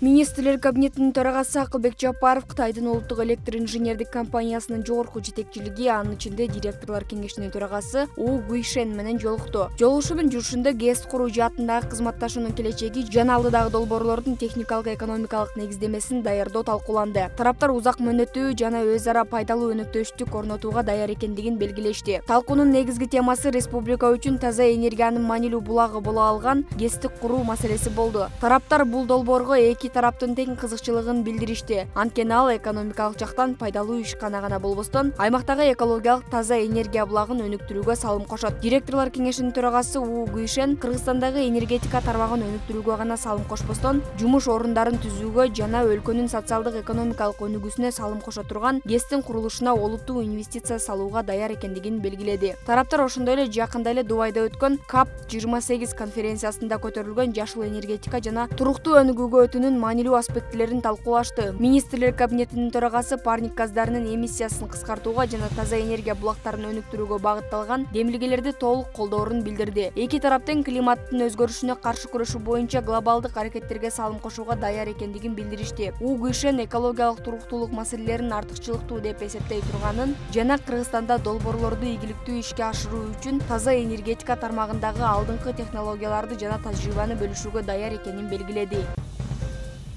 Министрлер кабинетинин төрагасы Акылбек Жапаров Кытайдын улуттук электр инженердик компаниясынын жогорку жетекчилиги, анын ичинде директорлор кеңешинин төрагасы У Гуйшен менен жолукту. Жолугушуунун жүрүшүндө ГЭС куруу жаатындагы кызматташуунун келечеги жана алдыдагы долбоорлордун техникалык экономикалык негиздемесин даярдоо талкууланды. Тараптар узак мөөнөттүү жана өз ара пайдалуу өнөктөштүк орнотууга даяр экендигин белгилешти. Талкуунун негизги темасы республика үчүн таза энергиянын маанилүү булагы боло алган ГЭСти куруу маселеси болду. Тараптар бул долбоорго эки тараптын тең кызыкчылыгын билдиришти. Анткени ал экономикалык жактан пайдалуу ишкана гана болбостон, аймактагы экологиялык таза энергия булагын өнүктүрүүгө салым кошот. Директорлор кеңешинин төрагасы У Гуйшен Кыргызстандагы энергетика тармагын өнүктүрүүгө гана салым кошпостон, жумуш орундарын түзүүгө жана өлкөнүн социалдык экономикалык өнүгүүсүнө салым кошо турган ГЭСтин курулушуна олуттуу инвестиция салууга даяр экендигин белгиледи. Тараптар ошондой эле жакында эле Дубайда өткөн COP28 конференциясында көтөрүлгөн жашыл энергетика жана туруктуу өнүгүүгө өтүүнүн маанилүү аспектилерин талкуулашты. Министрлер кабинетинин төрагасы парник газдарынын эмиссиясын кыскартууга жана таза энергия булактарын өнүктүрүүгө багытталган демилгелерди толук колдоорун билдирди. Эки тарап тең климаттын өзгөрүшүнө каршы күрөшүү боюнча глобалдык аракеттерге салым кошууга даяр экендигин билдиришти. У Гуйшен экологиялык туруктуулук маселелерин артыкчылыктуу деп эсептей турганын жана Кыргызстанда долбоорлорду ийгиликтүү ишке ашыруу үчүн таза энергетика тармагындагы алдыңкы технологияларды жана тажрыйбаны бөлүшүүгө даяр экенин белгиледи.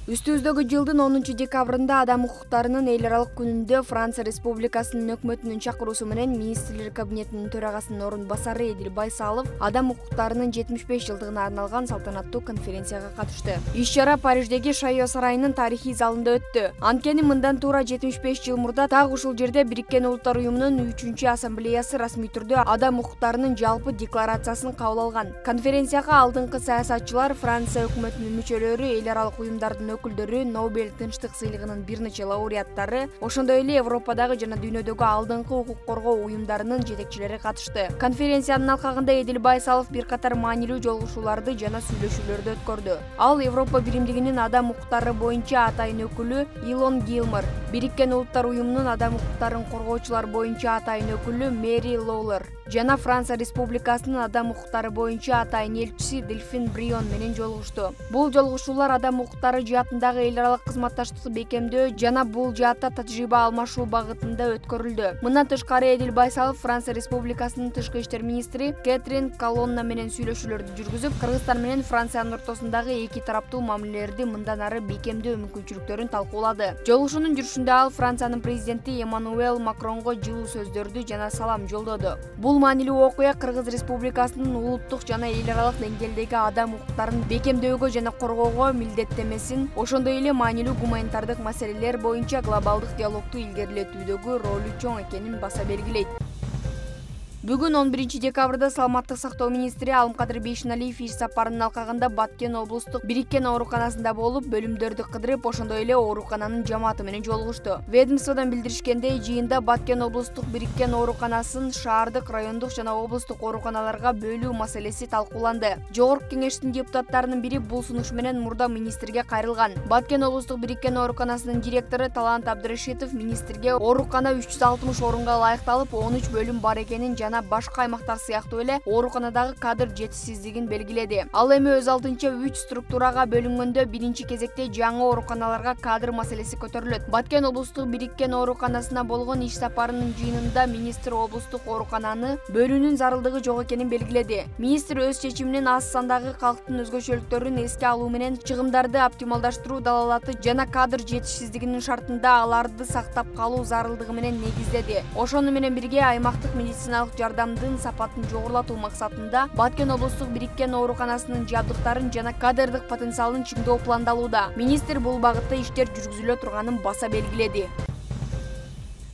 Үстүбүздөгү жылдын 10 декабрында Адам укуктарынын эл аралык күнүндө Франция Республикасынын өкмөтүнүн чакыруусу менен Министрлер кабинетинин төрагасынын орун басары Эдил Байсалов Адам укуктарынын 75 жылдыгына арналган салтанаттуу конференцияга катышты. Иш-чара Париждеги Шайо сарайынын тарыхый залында өттү. Анткени мындан туура 75 жыл мурда так ушул жерде Бириккен Улуттар уюмунун 3-ассамблеясы расмий түрдө Адам укуктарынын жалпы декларациясын кабыл алган. Конференцияга алдыңкы саясатчылар, Франция өкмөтүнүн мүчөлөрү, эл аралык уюмдардын өкүлдөрү, Нобель тынчтык сыйлыгынын бир нече лауреаттары, ошондой эле Европадагы жана дүйнөдөгү алдыңкы укук коргоо уюмдарынын жетекчилери катышты. Конференциянын алкагында Эдил Байсалов бир катар маанилүү жолугушууларды жана сүйлөшүүлөрдү өткөрдү. Ал Европа биримдигинин адам укуктары боюнча атайын өкүлү Илон Гилмор, Бириккен Улуттар уюмунун адам укуктарын коргоочулар боюнча атайын өкүлү Мэри Лоулер жана Франция Республикасынын адам укуктары боюнча атайын элчиси Дельфин Брион менен жолугушту. Бул жолугушуулар адам укуктары жаатындагы эл аралык кызматташтыкты бекемдөө жана бул жаатта тажрыйба алмашуу багытында өткөрүлдү. Мындан тышкары Эдил Байсалов Франция Республикасынын тышкы иштер министри Кэтрин Колонна менен сүйлөшүүлөрдү жүргүзүп, Кыргызстан менен Франциянын ортосундагы эки тараптуу мамилелерди мындан ары бекемдөө мүмкүнчүлүктөрүн талкуулады. Жолугушуунун жүрүшүндө ал Франциянын президенти Эммануэл Макронго жылуу сөздөрдү жана салам жолдоду. Бул маанилүү окуя Кыргыз Республикасынын улуттук жана эл аралык деңгээлдеги адам укуктарын бекемдөөгө жана коргоого милдеттемесин, ошондой эле маанилүү гуманитардык маселелер боюнча глобалдык диалогду илгерилетүүдөгү ролу чоң экенин баса белгилейт. Бүгүн 11 декабрда саламаттык сактоо министри Алымкадыр Бейшеналиев иш сапарынын алкагында Баткен облустук Бириккен ооруканасында болуп, бөлүмдөрдү кыдырып, ошондой эле оорукананын жамааты менен жолугушту. Ведомстводон билдиришкендей, жыйында Баткен облустук Бириккен ооруканасын шаардык, райондук жана облустук ооруканаларга бөлүү маселеси талкууланды. Жогорку кеңештин депутаттарынын бири бул сунуш менен мурда министрге кайрылган. Баткен облустук Бириккен ооруканасынын директору Талант Абдырашитов министрге оорукана 360 орунга ылайыкталып, 13 бөлүм бар экенин жана башка аймактар сыяктуу эле ооруканадагы кадр жетишсиздигин белгиледи. Ал эми өз алдынча 3 структурага бөлүнгөндө биринчи кезекте жаңы ооруканаларга кадр маселеси көтөрүлөт. Баткен облустук Бириккен ооруканасына болгон иш сапарынын жыйынында министр облустук оорукананы бөлүүнүн зарылдыгы жок экенин белгиледи. Министр өз чечиминин аз сандагы калктын өзгөчөлүктөрүн эске алуу менен чыгымдарды оптималдаштыруу далалаты жана кадр жетишсиздигинин шартында аларды сактап калуу зарылдыгы менен негиздеди. Ошону менен бирге аймактык медициналык жардамдын сапатын жогорулатуу максатында Баткен облустук Бириккен ооруканасынын жабдыктарын жана кадрдык потенциалын чыңдоо пландалууда. Министр бул багытта иштер жүргүзүлө турганын баса белгиледи.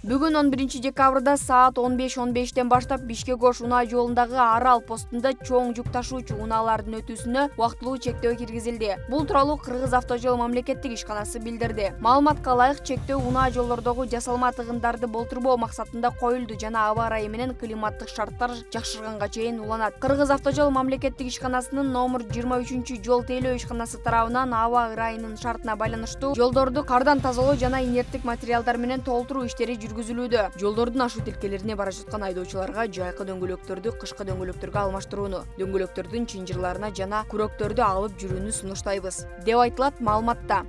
Бүгүн 11 декабрда саат 15:15 баштап Бишкек-Ош унаа жолундагы Арал постунда чоң жүк ташуучу унаалардын өтүүсүнө убактылуу чектөө киргизилди. Бул тууралуу Кыргыз автожол мамлекеттик ишканасы билдирди. Маалыматка ылайык, чектөө унаа жолдордогу жасалма тыгындарды болтурбоо максатында коюлду жана аба ырайы менен климаттык шарттар жакшырганга чейин уланат. Кыргыз автожол мамлекеттик ишканасынын номер 23-жол тейлөө ишканасы тарабынан аба ырайынын шартына байланыштуу жолдорду кардан тазалоо жана инерттик материалдар менен толтуруу иштери жүргүзүлүүдө. Жолдордун ашуу тилкелерине бара жаткан айдоочуларга жайкы дөңгөлөктөрдү кышкы дөңгөлөктөргө алмаштырууну, дөңгөлөктөрдүн чынжырларына жана күрөктөрдү алып жүрүүнү сунуштайбыз, деп айтылат маалыматта.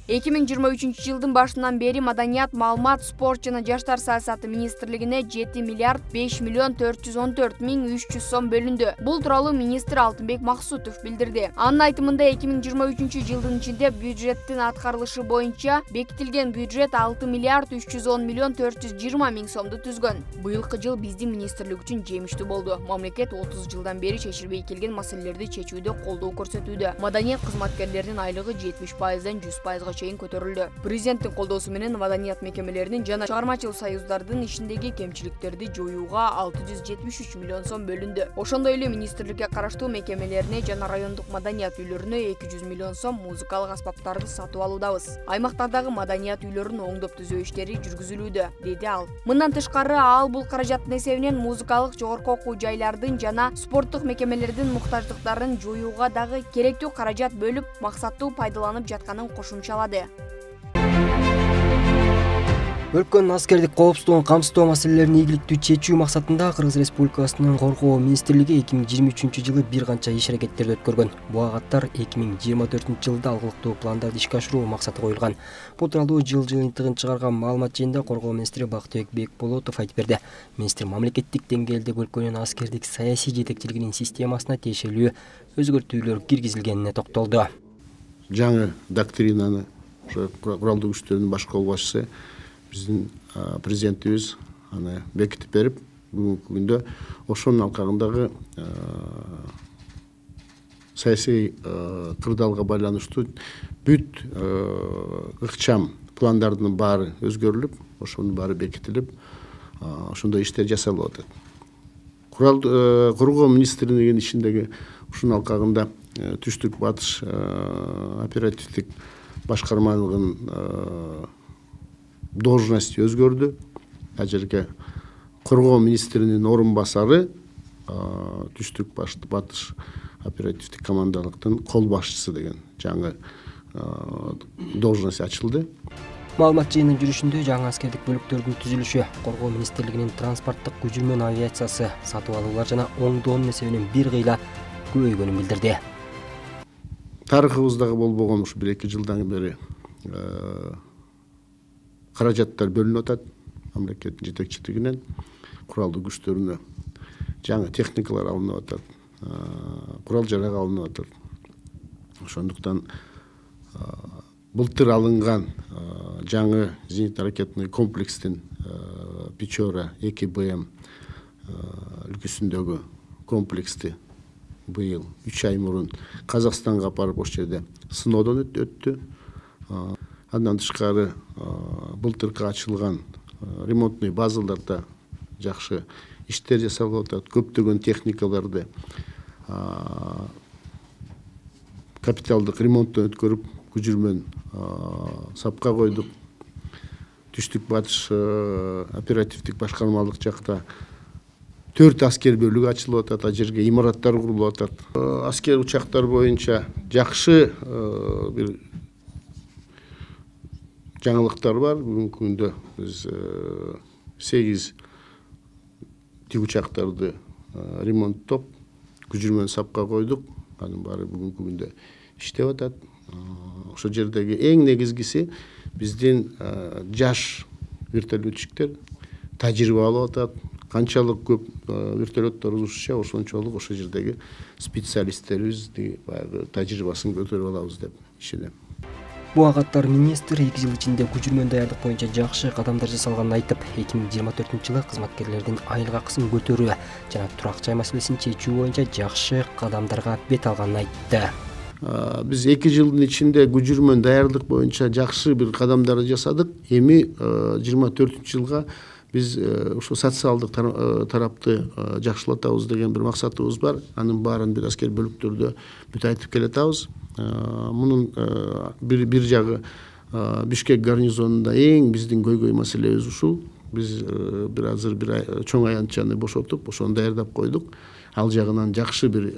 2023 жылдын башынан бери Маданият, маалымат, спорт жана жаштар саясаты министрлигине 7 миллиард 5 миллион 414 миң 300 сом бөлүндү. Бул тууралуу министр Алтынбек Максутов билдирди. Анын айтымында 2023 жылдын ичинде бюджеттин аткарылышы боюнча бекитилген бюджет 6 миллиард 310 миллион 420 миң сомду түзгөн. Быйылкы жыл биздин министрлик үчүн жемиштүү болду. Мамлекет 30 жылдан бери чечилбей келген маселелерди чечүүдө колдоо көрсөтүүдө. Маданият кызматкерлеринин айлыгы 70%дан 100%га чейин көтөрүлдү. Президенттин колдоосу менен маданият мекемелеринин жана чыгармачыл союздардын ишиндеги кемчиликтерди жоюуга 673 миллион сом бөлүндү. Ошондой эле министрликке караштуу мекемелерине жана райондук маданият үйлөрүнө 200 миллион сом музыкалык аспаптарды сатып алуудабыз. Аймактардагы маданият үйлөрүн оңдоп түзөө иштери жүргүзүлүүдө, деди ал. Мындан тышкары ал бул каражаттын эсебинен музыкалык жогорку окуу жайлардын жана спорттук мекемелердин муктаждыктарын жоюуга дагы керектүү каражат бөлүп, максаттуу пайдаланып жатканын кошумчалады. Өлкөнүн аскердик коопсуздугун камсыздоо маселелерин ийгиликтүү чечүү максатында Кыргыз Республикасынын Коргоо министрлиги 2023 жылы бир канча иш-аракеттерди өткөргөн. Буга катар 2024 жылда алгылыктуу пландарды ишке ашыруу максаты коюлган. Бул тууралуу жыл жыйынтыгын чыгарган маалымат жыйында Коргоо министри Бактыбек Бекболотов айтып берди. Министр мамлекеттик деңгээлде өлкөнүн аскердик саясий жетекчилигинин системасына тиешелүү өзгөртүүлөр киргизилгенине токтолду. Жаңы доктринаны куралдуу күчтөрдүн баш колбашчысы биздин президентибиз аны бекитип берип, бүгүнкү күндө ошонун алкагындагы саясий кырдаалга байланыштуу бүт ыкчам пландардын баары өзгөрүлүп, ошонун баары бекитилип, ошондой иштер жасалып атат. Коргоо министрлигинин ишиндеги ушунун алкагында түштүк батыш оперативдик башкармалыгынын должности өзгөрдү. Ал жерге Коргоо министринин орун басары түштүк батыш оперативдик командалыктын кол башчысы деген жаңы должность ачылды. Маалымат жыйынынын жүрүшүндө жаңы аскердик бөлүктөрдүн түзүлүшү, Коргоо министрлигинин транспорттук көчүрмөн авиациясы сатып алуулар жана оңдоонун эсебинен бир кыйла көбөйгөнүн билдирди. Тарыхыбыздагы болбогон ушу 1-2 жылдан бери каражаттар бөлүнүп атат мамлекеттин жетекчилигинен, куралдуу күчтөрүнө жаңы техникалар алынып атат, курал жарак алынып атат. Ошондуктан былтыр алынган жаңы зенитно-ракетный комплекстин Печора 2БМ үлгүсүндөгү комплексти быйыл 3 ай мурун Казакстанга барып ошол жерде сыноодон өттү. Андан тышкары былтыркы ачылган ремонтный базаларда жакшы иштер жасалып атат. Көптөгөн техникаларды капиталдык ремонттон өткөрүп, көчүрмөн сапка койдук. Түштүк батыш оперативдик башкармалык жакта 4 аскер бөлүгү ачылып атат, ал жерге имараттар курулуп атат. Аскер учактар боюнча жакшы бир жаңылыктар бар. Бүгүнкү күндө биз 8 тик учактарды ремонттоп, көчүрмөн сапка койдук. Анын баары бүгүнкү күндө иштеп атат. Ошол жердеги эң негизгиси биздин жаш вертолетчиктер тажрыйба алып атат. Канчалык көп вертолеттор узушча, ошончолук ошол жердеги специалисттерибизди баягы тажрыйбасын көтөрүп алабыз деп ишенем. Буга катар министр 2 жыл ичинде көчүрмөн даярдык боюнча жакшы кадамдар жасалганын айтып, 2024 жылы кызматкерлердин айлык акысын көтөрүү жана турак жай маселесин чечүү боюнча жакшы кадамдарга бет алганын айтты. Биз 2 жылдын ичинде көчүрмөн даярдык боюнча жакшы бир кадамдарды жасадык. Эми 24 жылга биз ушул социалдык тарапты жакшылатабыз деген бир максатыбыз бар. Анын баарын бир аскер бөлүктөрдө бүт айтып келатабыз. Мунун бир жагы Бишкек гарнизонунда эң биздин көйгөй маселебиз ушул. Биз азыр бир чоң аянтчаны бошотуп, ошону даярдап койдук. Ал жагынан жакшы бир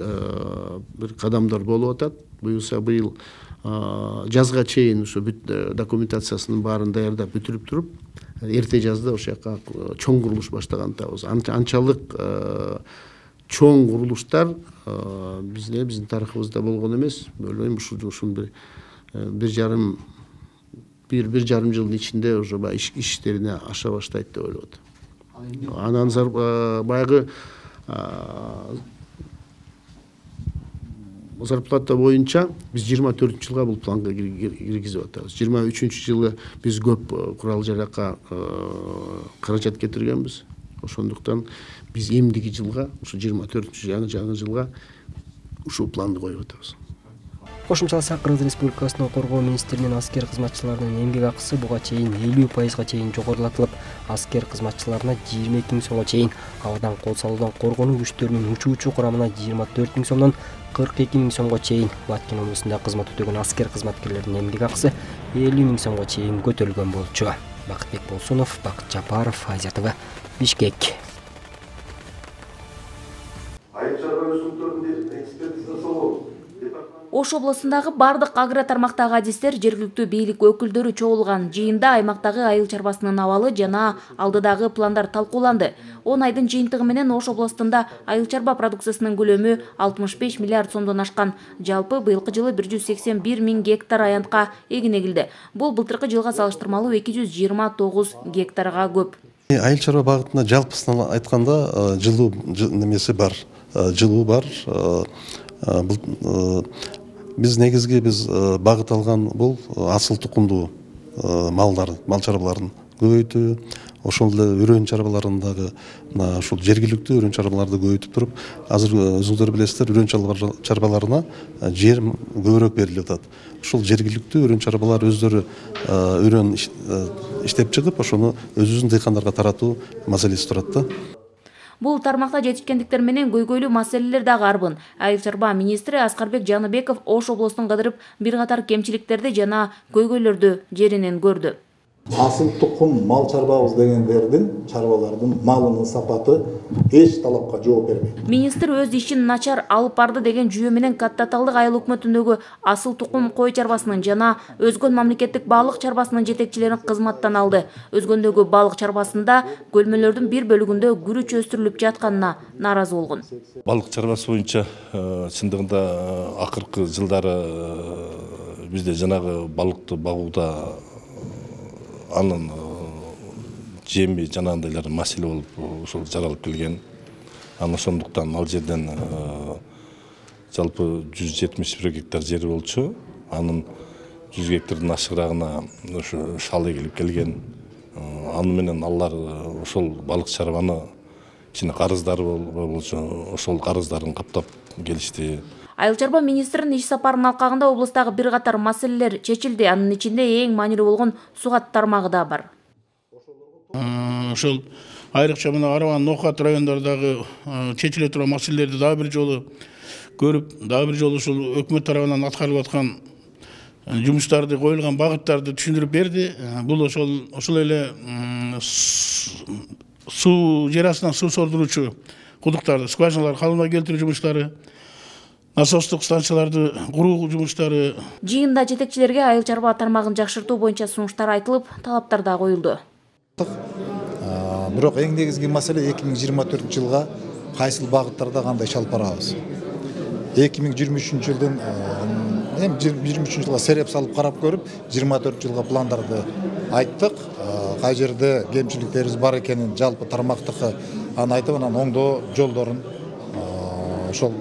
кадамдар болуп атат. Буюрса быйыл жазга чейин ушу бүт документациясынын баарын даярдап бүтүрүп туруп, эрте жазда ошол жака чоң курулуш баштаган атабыз. Анчалык чоң курулуштар биздин тарыхыбызда болгон эмес. Ойлойм ушул бир жарым жылдын ичинде уже иштерине аша баштайт деп ойлоп атам. Анан баягы зарплата боюнча биз 24-жылга бул планга киргизип атабыз. 23-жылы биз көп курал жаракка каражат кетиргенбиз. Ошондуктан биз эмдиги жылга, ушу 24-жаңы жылга ушул планды коюп атабыз. Кошумчаласак, Кыргыз Республикасынын Коргоо министринин аскер кызматчыларынын эмгек акысы буга чейин 50% чейин жогорулатылып, аскер кызматчыларына 22 000 сомго чейин, абадан кол салуудан коргонуу күчтөрүнүн учуучу курамына 24 000 сомдон 42 000 сомго чейин, Баткен облусунда кызмат өтөгөн аскер кызматкерлеринин эмгек акысы 50 000 сомго чейин көтөрүлгөн болчу. Бакытбек Болсунов, Бакыт Жапаров, Азия ТВ, Бишкек. Ош облусундагы бардык агро тармактагы адистер, жергиликтүү бийлик өкүлдөрү чогулган жыйында аймактагы айыл чарбасынын абалы жана алдыдагы пландар талкууланды. 10 айдын жыйынтыгы менен Ош областында айыл чарба продукциясынын көлөмү 65 миллиард сомдон ашкан. Жалпы быйылкы жылы 181 000 гектар аянтка эгин эгилди. Бул былтыркы жылга салыштырмалуу 229 гектарга көп. Айыл чарба багытында жалпысынан айтканда жылуу немеси бар, жылуу бар. Биз негизги багыт алган бул асыл тукумдуу мал чарбаларын көбөйтүү, ошол эле өрөн чарбаларындагы ушул жергиликтүү өрөн чарбаларды көбөйтүп туруп, азыр өзүңүздөр билесиздер, өрөн чарбаларына жер көбүрөөк берилип атат. Ушул жергиликтүү өрөн чарбалар өздөрү өрөн иштеп чыгып, ошону өзүбүздүн дыйкандарга таратуу маселеси турат да. Бул тармакта жетишкендиктер менен көйгөйлүү маселелер дагы арбын. Айыл чарба министри Аскарбек Жаныбеков Ош облусун кыдырып, бир катар кемчиликтерди жана көйгөйлөрдү жеринен көрдү. Асыл тукум мал чарбабыз дегендердин, чарбалардын малынын сапаты эч талапка жооп бербейт. Министр өз ишин начар алып барды деген жүйө менен Каттаталдык айыл өкмөтүндөгү асыл тукум кой чарбасынын жана өзгөн мамлекеттик балык чарбасынын жетекчилерин кызматтан алды. Өзгөндөгү балык чарбасында көлмөлөрдүн бир бөлүгүндө күрүч өстүрүлүп жатканына нааразы болгон. Балык чарбасы боюнча чындыгында акыркы жылдары бизде жанагы балыкты багууда анын жеми жанагындайлар маселе болуп ошол жаралып келген. Анан ошондуктан ал жерден жалпы 171 гектар жери болчу. Анын 100 гектардан ашыгыраагына ошо шал эгилип келген. Аны менен алар ошол балык чарбаны кичине карыздары болчу. Ошол карыздарын каптап келишти. Айыл чарба министринин иш сапарынын алкагында облустагы бир катар маселелер чечилди. Анын ичинде эң маанилүү болгон сугат тармагы да бар. Ошол айрыкча мына Арабан Нокат райондордогу чечиле турган маселелерди дагы бир жолу көрүп, дагы бир жолу ушул өкмөт тарабынан аткарылып аткан жумуштарды, коюлган багыттарды түшүндүрүп берди. Бул ошол эле жер астынан суу солдуруучу кудуктарды, скважиналарды калыбына келтирүү жумуштары, насостук станцияларды куруу жумуштары. Жыйында жетекчилерге айыл чарба тармагын жакшыртуу боюнча сунуштар айтылып, талаптар да коюлду. Бирок эң негизги маселе 2024 жылга кайсыл багыттарда кандай чалып барабыз. 2023 жылдын 23 жылга сереп салып карап көрүп, 24 жылга пландарды айттык. Кай жерде кемчиликтерибиз бар экенин жалпы тармактыкы аны айтып, анан оңдоо жолдорун ошол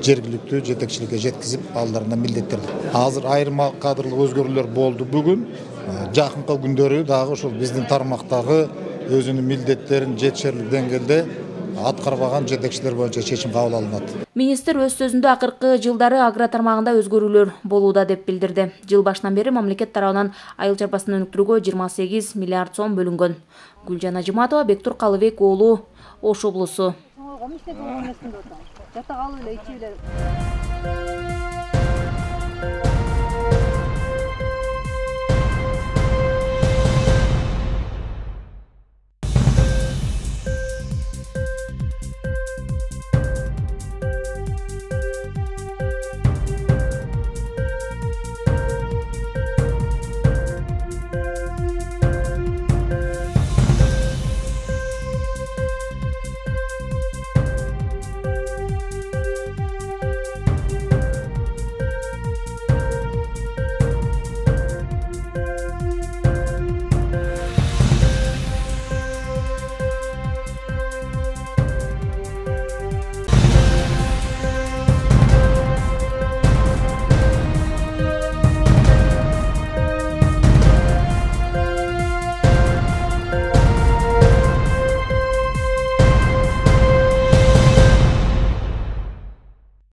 жергиликтүү жетекчиликке жеткизип, алдарына милдеттерди. Азыр айрым кадрлык өзгөрүүлөр болду бүгүн. Жакынкы күндөрү дагы ошол биздин тармактагы өзүнүн милдеттерин жетишерлик деңгээлде аткарбаган жетекчилер боюнча чечим кабыл алынат. Министр өз сөзүндө акыркы жылдары агро тармагында өзгөрүүлөр болууда деп билдирди. Жыл башынан бери мамлекет тарабынан айыл чарбасын өнүктүрүүгө 28 миллиард сом бөлүнгөн. Гүлжан Ажыматова, Бектур Калыбек уулу, Ош облусу.